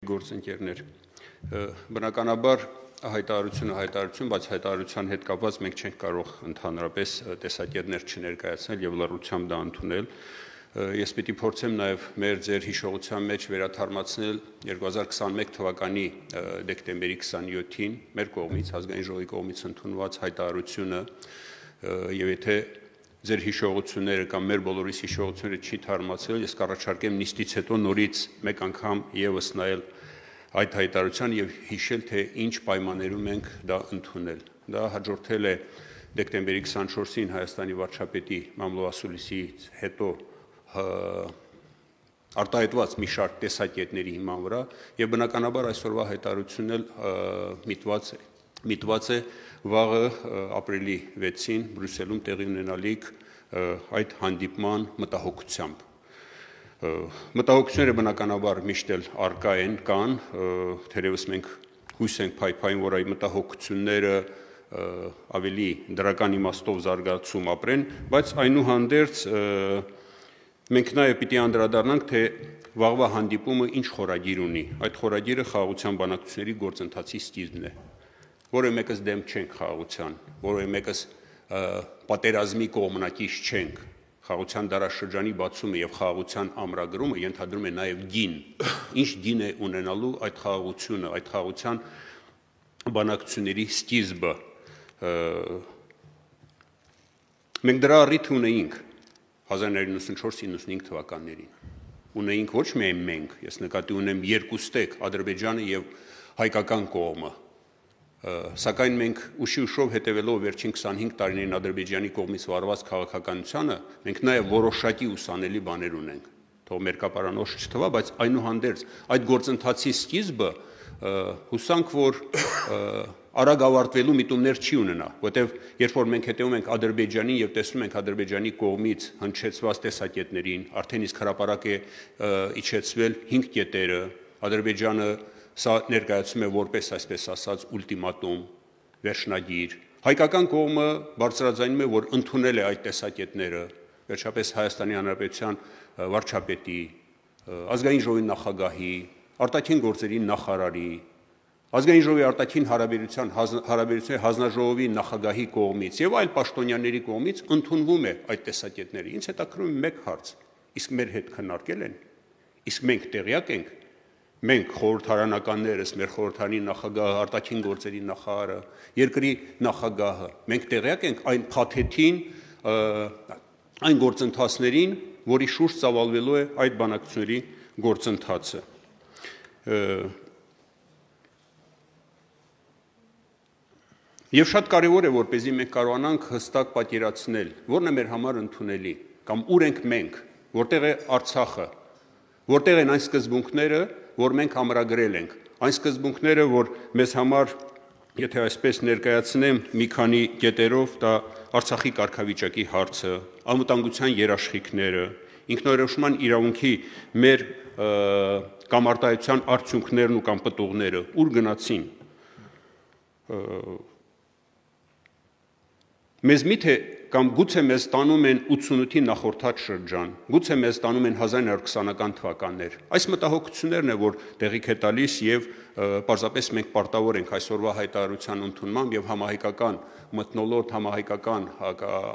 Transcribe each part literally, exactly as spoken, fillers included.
Գործընկերներ, բնականաբար հայտարարությունը հայտարարություն, բայց հայտարարության հետ կապված մենք չենք կարող ընդհանրապես տեսակետներ չներկայացնել եւ լռությամբ դա ընդունել։ Ես պիտի փորձեմ նաեւ մեր ձեր հիշողության մեջ վերաթարմացնել երկու հազար քսաներկու թվականի դեկտեմբերի քսաներկուին մեր կողմից ազգային ժողովի կողմից ընդունված հայտարարությունը եւ եթե ձեր հիշողությունները կամ մեր բոլորիս հիշողությունները չի թարմացել, ես կառաջարկեմ նիստից հետո նորից մեկ անգամ եւս նայել այդ հայտարարության եւ հիշել թե ինչ պայմաններում ենք դա ընդունել։ Դա հաջորդել է դեկտեմբերի քսանչորսին Հայաստանի վարչապետի Մամլո Ասուլիսից հետո արտահայտված մի շարք տեսակետների հիման վրա եւ բնականաբար այսօրվա հայտարարությունն էլ միտված է միտված է վաղը ապրիլի վեցին Բրյուսելում տեղի ունենալիք այդ հանդիպման մտահոգությամբ։ Մտահոգությունները բնականաբար միշտ էլ առկա են կան, թերևս մենք հույս ենք փայփային, որ այդ մտահոգությունները ավելի դրական իմաստով զարգացում ապրեն, բայց այնուհանդերձ մենք նաև պիտի անդրադառնանք, թե վաղվա հանդիպումը ինչ խորագիր ունի։ Այդ խորագիրը խաղաղության բանակցությունների գործընթացի սկիզբն է։ Որը մեկս դեմ չենք խաղաղության, որը մեկս պատերազմի կողմնակից չենք։ Խաղաղության դարաշրջանի բացումը եւ խաղաղության ամրագրումը ենթադրում է նաեւ գին։ Ինչ գին է ունենալու այդ խաղաղությունը, այդ խաղաղության բանակցությունների սկիզբը։ Մենք դրա առիթ ունեինք հազար նոյ իննսուն չորս իննսունհինգ թվականներին։ Ունեինք ոչ միայն մենք, ես նկատի ունեմ երկուստեք Ադրբեջանը եւ հայկական կողմը։ Սակայն մենք ուշի ուշով հետևելով վերջին քսանհինգ տարիներին Ադրբեջանի կողմից վարված քաղաքականությանը, մենք նաև որոշակի ուսանելի բաներ ունենք։ Թող մերկապարանոց չթվա, բայց այնուհանդերձ այդ գործընթացի սկիզբը հուսանք, որ արագ ավարտվելու միտումներ չի ունենա, որտեղ երբ որ մենք հետևում ենք Ադրբեջանին եւ տեսնում ենք Ադրբեջանի կողմից հնչեցված տեսակետներին, արդեն իսկ հրապարակ է իջեցվել հինգ կետերը, Ադրբեջանը սա ներկայացում է որպես այսպես ասած ուլտիմատում, վերջնագիր։ Հայկական կողմը բարձրաձայնում է, որ ընդունել է այդ տեսակետները, վերջապես Հայաստանի Հանրապետության վարչապետի, ազգային ժողովի նախագահի, արտաքին գործերի նախարարի, ազգային ժողովի արտաքին հարաբերության հարաբերությունների հանձնաժողովի նախագահի կողմից եւ այլ պաշտոնյաների կողմից ընդունվում է այդ տեսակետները։ Ինձ հետաքրքրում է մեկ հարց. իսկ մեր հետ քննարկել են, իսկ մենք տեղյակ ենք, մենք խորհրդարանականներս, մեր խորհրդարանի նախագահը, արտաքին գործերի նախարարը, երկրի նախագահը, մենք տեղյակ ենք այն փաթեթին, այն գործընթացներին, որի շուրջ ծավալվելու է այդ բանակցությունների գործընթացը։ Եվ շատ կարևոր է, որպեսզի մենք կարողանանք հստակ պատկերացնել, որն է մեր համար ընդունելի, կամ ուր ենք մենք, որտեղ է Արցախը, որտեղ են այն սկզբունքները, որ մենք ամրագրել ենք, այն սկզբունքները, որ մեզ համար, եթե այսպես ներկայացնեմ մի քանի կետերով, դա Արցախի կարգավիճակի հարցը, անվտանգության երաշխիքները, ինքնորոշման իրավունքի մեր կամ արտահայտության արդյունքներն ու կամ պտուղները ուր գնացին։ Մեզ միթե կամ գուցե մեզ տանում են ութսունութի նախորդած շրջան, գուցե մեզ տանում են հազար նոյ քսանական թվականներ։ Այս մտահոգություններն է, որ տեղիք է տալիս եւ պարզապես մենք պարտավոր ենք այսօրվա հայտարարության ընդունմամբ եւ համահայկական մթնոլորտ, համահայկական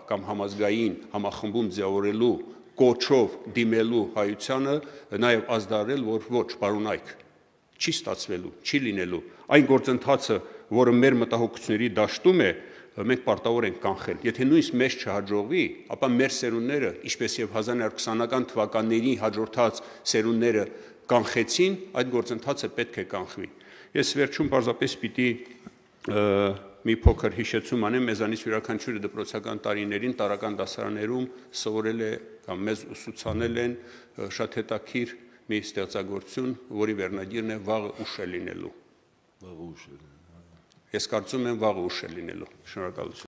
կամ համազգային համախմբում ձևավորելու կոչով դիմելու հայությանը նաեւ ազդարել, որ ոչ, պարոնայք, չի ստացվելու, չի լինելու։ Այն գործընթացը, որը մեր մտահոգությունների դաշտում է, մենք պարտավոր ենք կանխել։ Եթե նույնիսկ մեզ չհաջողվի, ապա մեր սերունդները, ինչպես եւ հազար նոյ քսանական թվականների հաջորդած սերունդները կանխեցին, այդ գործընթացը պետք է կանխվի։ Ես վերջում պարզապես պիտի մի փոքր հիշեցում անեմ, մեզանից յուրաքանչյուրը դպրոցական տարիներին տարրական դասարաններում սովորել է կամ մեզ ուսուցանել են շատ հետաքրքիր մի ստեղծագործություն, որի վերնագիրն է Վաղը ուշ է լինելու։ Վաղը ուշ է։ Ես կարծում եմ վաղը ուշ է լինելու։ Շնորհակալություն։